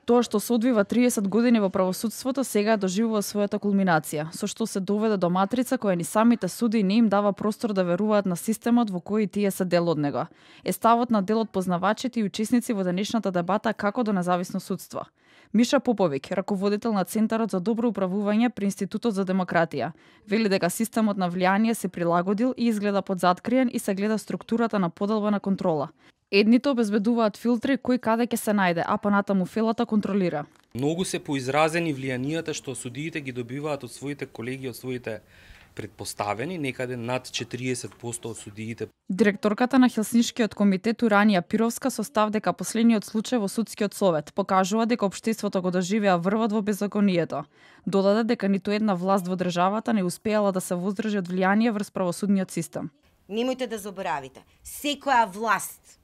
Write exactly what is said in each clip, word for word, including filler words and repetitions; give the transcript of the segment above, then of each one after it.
Тоа што се одвива триесет години во правосудството сега доживува својата кулминација, со што се доведе до матрица која ни самите суди не им дава простор да веруваат на системот во кој тие се дел од него. Е ставот на дел од познавачите и учесници во денешната дебата како до независно судство. Миша Поповик, раководител на Центарот за добро управување при Институтот за демократија, вели дека системот на влијание се прилагодил и изгледа подзаткриен и се гледа структурата на поделба на контрола. Едните обезбедуваат филтри кој каде ќе се најде, а понатаму фелата контролира. Многу се поизразени влијанијата што судиите ги добиваат од своите колеги, од своите предпоставени, некаде над четириесет проценти од судиите. Директорката на Хелсиншкиот комитет Уранија Пировска со став дека последниот случај во судскиот совет покажува дека општеството го доживеа врвот во беззаконието. Додаде дека ниту една власт во државата не успеала да се воздржи од влијание врз правосудниот систем. Немојте да заборавите, секоја власт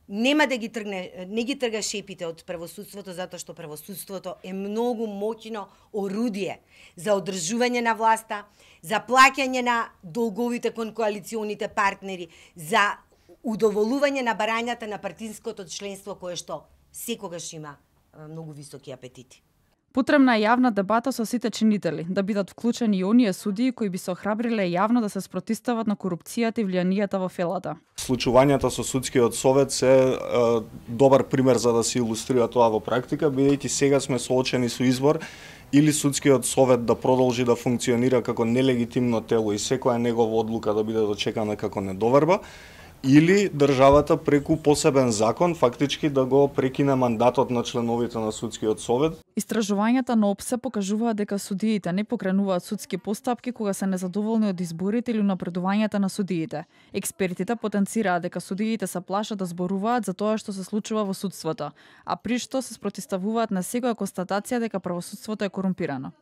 нема да ги тргне, не ги трга шепите од правосудството, затоа што правосудството е многу моќно орудие за одржување на власта, за плаќање на долговите кон коалиционите партнери, за удоволување на барањата на партиското членство кое што секогаш има многу високи апетити. Потребна е јавна дебата со сите чинители, да бидат вклучени и оние судии кои би се охрабриле јавно да се спротивстават на корупцијата и влијанието во фелата. Случувањата со судскиот совет се е, добар пример за да се илустрира тоа во практика, бидејќи сега сме соочени со избор или судскиот совет да продолжи да функционира како нелегитимно тело и секоја негова одлука да биде дочекана како недоверба, или државата преку посебен закон фактички да го прекине мандатот на членовите на судскиот совет. Истражувањата на ОПСЕ покажуваат дека судиите не покренуваат судски постапки кога се незадоволни од изборите или напредувањата на судиите. Експертите потенцираат дека судиите се плашат да зборуваат за тоа што се случува во судството, а при што се спротивставуваат на секоја констатација дека правосудството е корумпирано.